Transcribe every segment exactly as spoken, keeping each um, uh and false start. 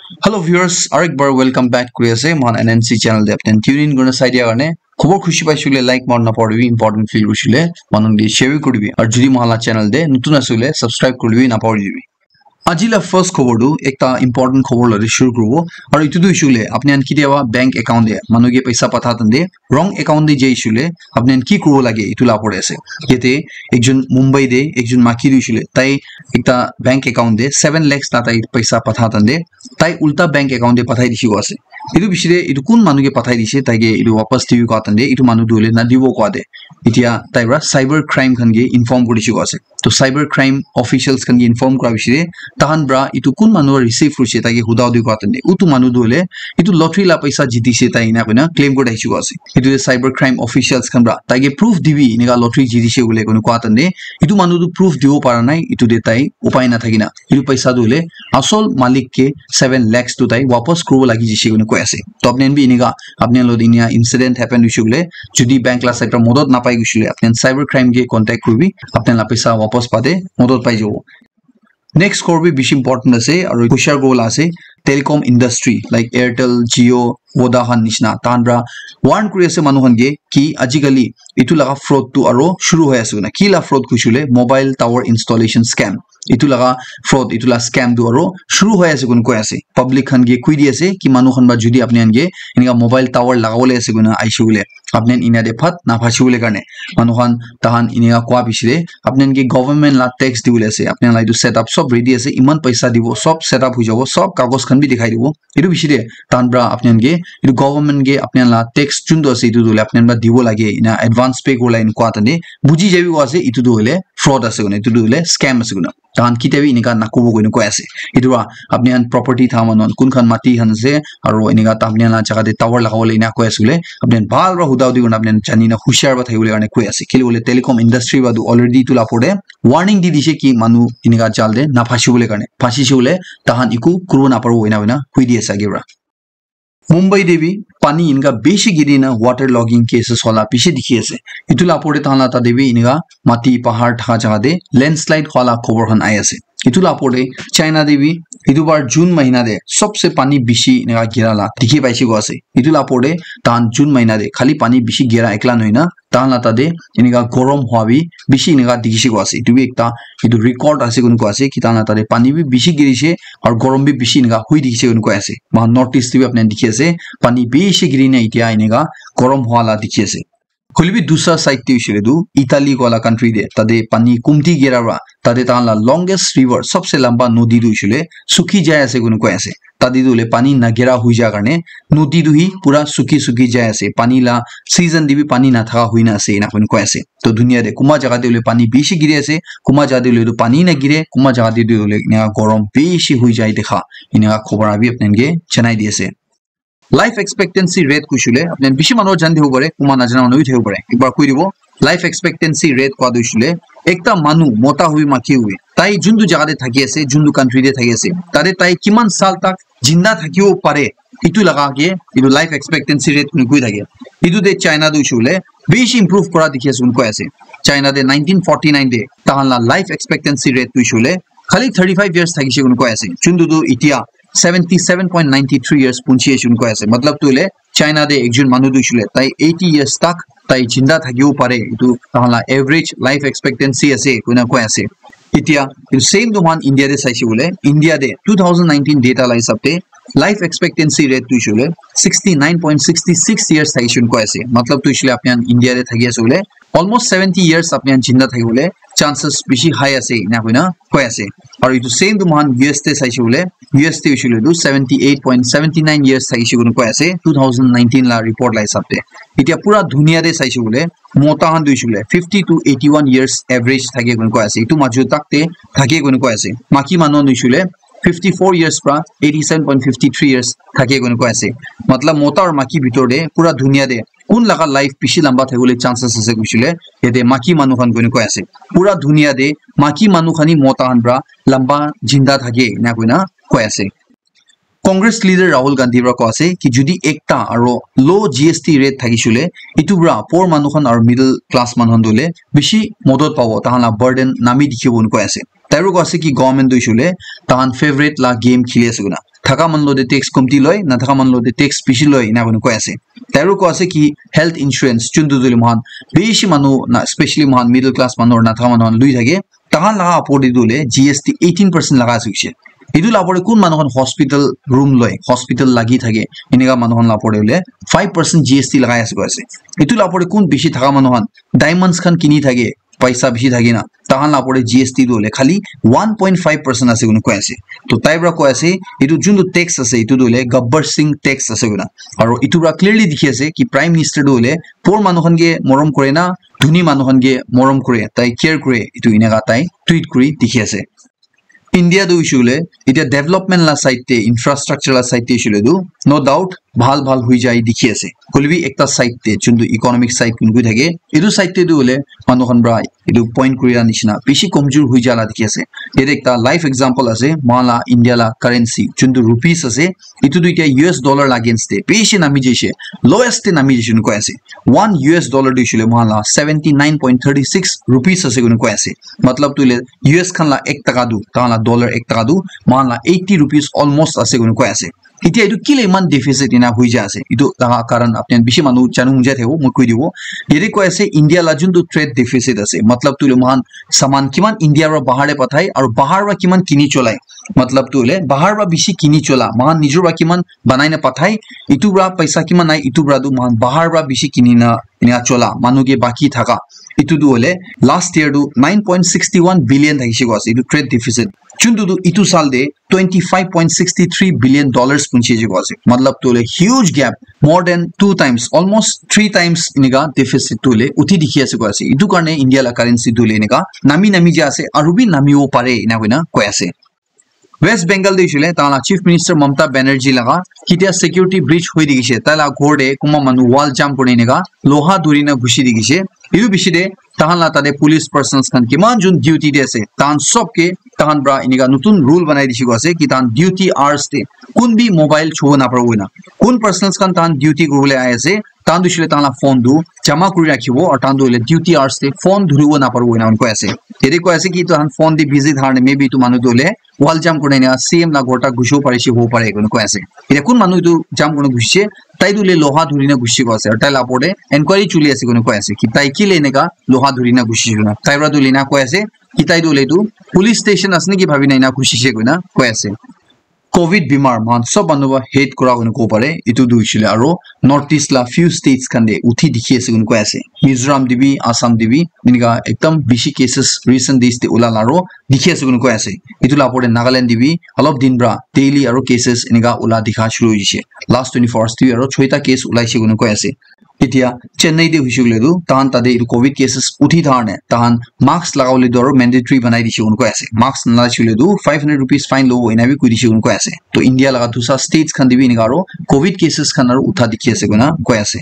Hello viewers, aru ek bar welcome back kuri ase mohan N N C channel te. Apni tune in kurina sai dia karne khobor khushi paishe koile like mari na paribi, important feel kurishe koile manu khan ke share bi kuribi. Aru jodi mohan la channel te notun ase koile subscribe kuribi na paribi. Aji la first khobor tu ekta important khobor loi shuru kuribo. Aru etu tu hoishe koile apni khan kitiaba bank account te manu ke paisa patha tande wrong account te jai hoishe koile apni khan ki kuribo lage etu la opor te ase. Yate ekjon Mumbai te ekjon maki tu hoishe koile tai ekta bank account te seven lakhs ta tai paisa patha tande tai ulta bank account te pathai dishi koa ase. Etu bishi te etu kun manu ke pathai dishe tai ke etu wapas dibi koa tande etu manu tu hoile nadibo koa te etia tai para cyber crime khan ke inform kuri dishi koa ase. To cyber crime officials khan ke inform kura bishi te tahan para etu kun manu receive kurishe tai ke huda hudi kura tande utu manu tu hoile etu lottery la paisa jitise tai ena koina claim kuri dishi koa ase. Etu te cyber crime officials khan para tai ke proof dibi enika lottery jitise koile koina koa tande etu manu tu proof dibo para nai etu te tai upai na thaki na etu paisa tu hoile asol malik ke seven lakhs tu tai wapas kuribo lagi jishe koina koi ase. To apni khan bi enika apni khan lot inia incident happen hoishe koile jodi bank la side para modot napai hoishe koile apni khan cyber crime ke contact kuribi apni khan la paisa wapas pate modot pai jabo. Next khobor bi bishi important ase aru hushar kuribo la ase telecom industry like Airtel, Jio, Voda khan nishina tahan para warn kuri ase manu khan ke ki ajikali etu laga fraud tu aru shuru hoi ase koina ki la fraud hoishe koile mobile tower installation scam etu laga fraud etu la scam tu aru shuru hoi ase koina koi ase. Public khan ke koi di ase ki manu khan para jodi apni khan ke enika mobile tower lagabole ase koina aishe koile apni khan enia te phat na phasi bole karne manu khan tahan enika koa bishi te apni khan ke government la tax dibole ase apni khan la etu setup sob ready ase iman paisa dibo sob setup hoi jabo sob kagos khan bi dikhai dibo etu bishi te tahan para apni khan ke etu government ke apni khan la tax juntu ase etu tu hoile apni khan para dibo lage ena advance pay kurila enkua tane buji jaibi koa ase etu tu hoile fraud ase koina etu tu hoile scam ase koina tahan kitiaba enika nakobo koina koi ase. Etu para apni khan property tha manu khan kun khan mati khan ase aru enika apni khan la jaga te tower lagabole ena koi ase koile apni khan bhal para huda hudi kurina apni khan jani na hushar para thakibo le karne koi ase kile koile telecom industry para tu already etu la opor te warning di dishe ki manu enika jal te na phasi bole karne phasi she koile tahan eku kuribo na paribo ena hoina hoi di ase age para. Mumbai te bi pani enika bishi giri na water logging cases hola bishi dikhi ase. Etu la opor te tahan la tate bi enika mati pahar thaka jaga te landslide hola khobor khan ai ase. Etu la opor te China te bi etu bar June mahina te sobse pani bishi enika gira la dikhi paise koa ase. Etu la opor te tahan June mahina te khali pani bishi gira ekla nohoi na tahan la tate enika gorom hua bi bishi enika dikhi se koa ase. Etu bi ekta etu record ase koina koa ase ki tahan la tate pani bi bishi giri se aru gorom bi bishi enika hui dikhi se koina koi ase. Moikhan North East te bi apni khan dikhi ase pani bishi giri na etia enika gorom hua la dikhi ase. Hoile bi dusra side te hoishe koile tu Italy koa la country te tate pani kumti gira para tate tahan la longest river sobse lamba nodi tu hoishe koile sukhi jai ase koina koi ase. Tate tu hoile pani nagira hoi ja karne nodi tu hi pura sukhi sukhi jai ase pani la season te bi pani nathaka hoina ase ena koina koi ase. To dunia te kunba jaga te hoile pani bishi giri ase kunba jaga te hoile tu pani nagire kunba jaga te tu hoile enika gorom bishi hoi jai dekha enika khobor abi apni khan ke janai di ase. Life expectancy rate kuishe koile apni khan bishi manu jani thakibo pare kunba najana manu bi thakibo pare ekbar koi dibo. Life expectancy rate koa tu hoishe koile ekta manu mota hobi maki hobi tai juntu jaga te thaki ase juntu country te thaki ase tate tai kiman sal tak jinda thakibo pare etu laga ke etu life expectancy rate koi thake. Etu te China tu hoishe koile bishi improve kura dikhi ase koi ase. China te nineteen forty nine te tahan la life expectancy rate tu hoishe koile khali thirty five years thakishe koina koi ase juntu tu etia seventy seven point ninety three years punchi ase koina koi ase matlab tu hoile China te ekjon manu tu hoishe koile tai eighty years tak tai jinda thakibo pare etu tahan la average life expectancy ase koina koi ase. Etia etu same tu moikhan India te saishe koile India te two thousand nineteen data la hisab te life expectancy rate tu hoishe koile sixty nine point sixty six years thakishe koina koi ase matlab tu hoishe koile apni khan India te thaki ase koile almost seventy years apni khan jinda thakibole chances bishi high ase ena koina koi ase. Aru etu same tu moikhan U S te saishe koile U S te hoishe koile tu seventy eight point seventy nine years thakishe koina koi ase two thousand nineteen la report la hisab te. Etia pura dunia te saishe koile mota khan tu hoishe koile fifty to eighty one years average thake koina koi ase etu majot tak te thake koina koi ase. Maki manu khan tu hoishe koile fifty four years pra eighty seven point fifty three years thake koina koi ase. Matlab mota aru maki bitor te pura dunia te kun laga life bishi lamba thakibole chances ase koishe koile yate maki manu khan koina koi ase. Pura dunia te maki manu khan hi mota khan pra lamba jinda thake ena koina koi ase. Congress leader Rahul Gandhi pra koi ase ki jodi ekta aro low G S T rate thakishe koile etu pra poor manu khan aro middle class manu khan tu hoile bishi modot pabo tahan la burden nami dikhibo koi ase. Tai pra koi ase ki government tu hoishe koile tahan favorite la game kheli ase koina. thaka manu lo te tax komti loi, na thaka manu lo te tax bishi loi, ena koi koi ase. Tai aru koi ase ki health insurance, chuntu tu le mohan bishi manu na, specially mohan middle class manu na thaka manu khan lui thake, tahan laga apor te tu le G S T eighteen percent laga ase hoise. Etu la apor te kun manu khan hospital room loi, hospital lagi thake, eneka manu khan la apor te le five percent G S T lagai ase koi ase. Etu la apor te kun bishi thaka manu khan diamonds khan kini thake, paisa bishi thake na, tahan la apor te G S T tu le khali one point five percent ase koi koi ase. To tai pra koi ase, etu juntu tax ase, etu tu le Gabbar Singh tax ase koi na. Aru etu pra clearly dikhi ase ki Prime Minister tu le poor manu khan ke morom kore na, dhuni manu khan ke morom kore, tai care kore, etu eneka tai tweet kuri dikhi ase. India tu hoishe koile, etia development la side te, infrastructure la side te hoishe koile tu, no doubt, bhal bhal hui jai dikhi ase. Hoile bi ekta side te, juntu economic side kun koi thake, etu side te tu hoile manu khan pra etu point kuri la nishina bishi komjor hui jala dikhi ase. Yate ekta live example ase, mohan la India la currency, juntu rupees ase, etu tu etia U S dollar la against te bishi nami jaise, lowest te nami jaise koi ase. One U S dollar tu hoishe koile mohan la seventy nine point thirty six rupees ase koi ase. Matlab tu hoile U S khan la ek taka tu, tahan la dollar ek taka tu, mohan la eighty rupees almost ase koi koi ase. Etia etu kile iman deficit ena hui jai ase? Etu laga karan apni khan bishi manu janu mujai thebo, moi koi dibo. Yate koi ase India la juntu trade deficit ase. Matlab tu hoile mohan saman kiman India pra bahar te pathai, aru bahar pra kiman kini cholai. Matlab tu hoile bahar pra bishi kini chola, mohan nijor pra kiman banai na pathai, etu pra paisa kiman nai, etu pra tu mohan bahar pra bishi kini na, ena chola, manu ke baki thaka. Etu tu hoile last year tu nine point sixty one billion thakishe koi ase, etu trade deficit. Juntu tu etu sal te twenty five point sixty three billion dollars punchi je koi ase. Matlab tu hoile huge gap, more than two times, almost three times eneka deficit tu hoile uthi dikhi ase koi ase. Etu karne India la currency tu hoile eneka nami nami jai ase, aru bi namibo pare ena koina koi ase. West Bengal te hoishe koile, tahan la Chief Minister Mamata Banerjee laga ketia security breach hoi dikhishe, tai la ghor te kunba manu wall jump kuri eneka loha dhuri na ghusi dikhishe. Etu bishi te tahan la tate police persons khan kiman jun duty te ase, tahan sob ke tahan pra eneka notun rule banai dishe koi ase ki tahan duty hours te kun bi mobile chubo naparibo koina. Kun persons khan tahan duty kuribole ahi ase, tahan tu hoishe koile tahan la phone tu jama kuri rakhibo, aru tahan tu hoile duty hours te phone dhuribo naparibo ena koi ase. Yate koi ase ki tahan phone te busy thakar karne maybe etu manu tu hoile wall jump kuri na C M la ghor tak ghusibo parishe hobo pare koina koi ase. Etia kun manu etu jump kuri na ghusishe, tai tu hoile loha dhuri na ghusi koi ase, aru tai la opor te enquiry chuli ase koina koi ase ki tai kile eneka loha dhuri na ghusi koina. Tai pra tu hoile ena koi ase ki tai tu hoile etu police station ase naki bhabi na ena ghusishe koina koi ase. Covid bimar mohan sob manu pra hate kura koina kobo pare. Etu tu hoishe koile aro North East la few states khan te uthi dikhi ase koina koi ase. Mizoram te bi, Assam te bi, enika ekdam bishi cases recent days te ula la aro dikhi ase koina koi ase. Etu la opor te Nagaland te bi olop din pra daily aro cases enika ula dikha shuru hoishe. Last twenty-four hours te bi aro choita case ulaishe koina koi ase. Etia Chennai te hoishe koile tu, tahan tate etu covid cases uthi thakar ne, tahan mask lagabole tu aro mandatory banai dishe koina koi ase. Mask nalagaishe koile tu five hundred rupees fine lobo, ena bi koi dishe koina koi ase. To India laga dusa states khan te bi enika aro covid cases khan aro utha dikhi ase koina koi ase.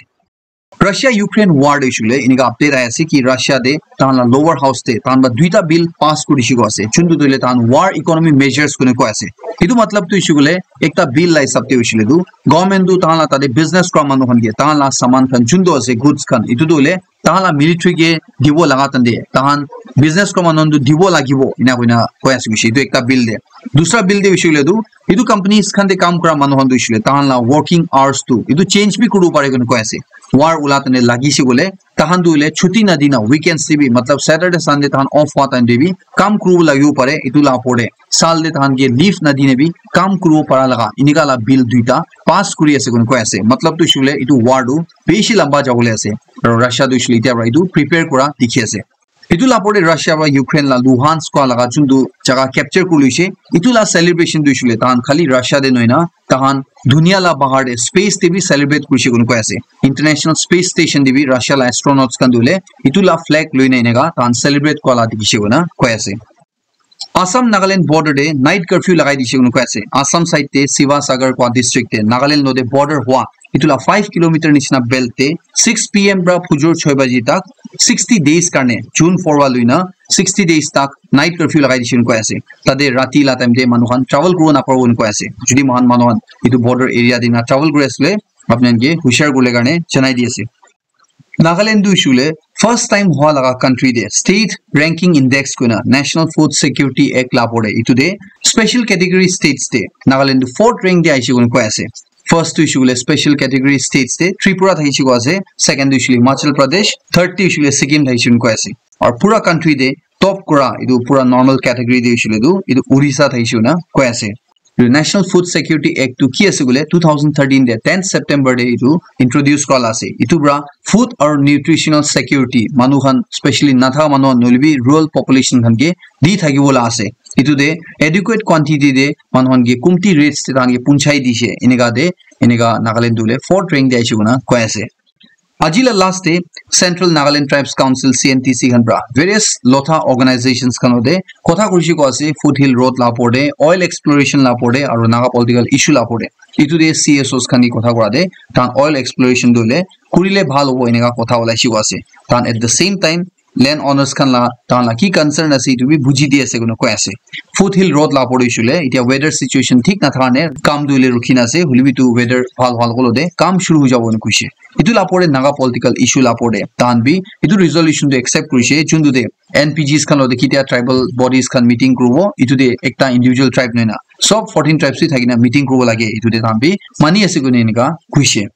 Russia Ukraine war te hoishe koile enika update ahi ase ki Russia te tahan la lower house te tahan pra duita bill pass kuri dishe koi ase. Chuntu tu hoile tahan war economy measures koina koi ase. Etu matlab tu hoishe koile ekta bill la hisab te hoishe koile tu government tu tahan la tate business kura manu khan ke tahan la saman khan chuntu ase goods khan etu tu hoile tahan la military ke dibo laga tante, tahan business kura manu khan tu dibo lagibo, ena koina koi ase hoishe. Etu ekta bill te. Dusra bill te hoishe koile tu, etu companies khan te kam kura manu khan tu hoishe koile, tahan la working hours tu, etu change bi kuribo pare koina koi ase. War ula tante lagishe koile, tahan tu hoile chuti na dina, weekends te bi, matlab Saturday, Sunday tahan off hua time te bi, kam kuribo lagibo pare, etu la opor te. Sal te tahan ke leave na dina bi, kam kuribo para laga, enika la bill duita pass kuri ase koina koi ase. Matlab tu hoishe koile, etu war tu bishi lamba jabole ase. Aro Russia tu hoishe koile etia para etu prepare kura dikhi ase. Etu la opor te Russia para Ukraine la Luhansk koa laga chuntu jaga capture kuri loishe. Etu la celebration tu hoishe koile tahan khali Russia te nohoi na, tahan dunia la bahar te space te bi celebrate kurishe koina koi ase. International Space Station te bi Russia la astronauts khan tu hoile etu la flag loi na enika tahan celebrate kura la dikhishe koina koi ase. Assam Nagaland border te night curfew lagai dishe koina koi ase. Assam side te Sivasagar koa district te Nagaland lote border hua etu la five kilometer nishina belt te six P M pra phujor choi baji tak sixty days karne, June four wa luina sixty days tak night curfew lagai dishe koina koi ase. Tate rati la time te manu khan travel kuribo naparibo koina koi ase. Jodi moikhan manu khan etu border area te na travel kuri asile, apni khan ke hushar kuribole karne janai di ase. Nagaland tu hoishe koile first time hua laga country te state ranking index koina National Food Security Act la opor te etu te special category states te Nagaland tu fourth rank te aishe koina koi ase. First tu hoishe koile special category states te Tripura thakishe koi ase, second tu hoishe koile Himachal Pradesh, third tu hoishe koile Sikkim thakishe koina koi ase. Aru pura country te top kura etu pura normal category te hoishe koile tu etu Odisha thakishe koina koi ase. Etu National Food Security Act tu ki ase koile two thousand thirteen te tenth September te etu introduce kura la ase. Etu pura food aru nutritional security manu khan, specially natha manu khan nohoile bi rural population khan ke di thakibo la ase. Etu te adequate quantity te manu khan ke kumti rates te tahan ke punchai dishe, eneka te eneka Nagaland tu le fourth rank te aishe koina koi ase. Aji la last te Central Nagaland Tribes Council, C N T C khan pra various lotha organizations khan lote kotha kurishe koi ase, foothill road la opor te, oil exploration la opor te, aru Naga political issue la opor te. Etu te C S Os khan ke kotha kura te tahan oil exploration tu le kurile bhal hobo eneka kotha olaishe koi ase. Tahan at the same time land owners khan la tahan la ki concern ase etu bi buji di ase koina koi ase. Foothill road la opor te hoishe koile etia weather situation thik nathaka karne kam tu hoile rukhi na ase, hoile bi etu weather bhal hwa logte kam shuru hoi jabo koina koishe. Etu la opor te Naga political issue la opor te tahan bi etu resolution tu accept kurishe, juntu te N P Gs khan lote kitia tribal bodies khan meeting kuribo, etu te ekta individual tribe nohoi na sob fourteen tribes bi thakina meeting kuribo lage, etu te tahan bi mani ase koina eneka koishe.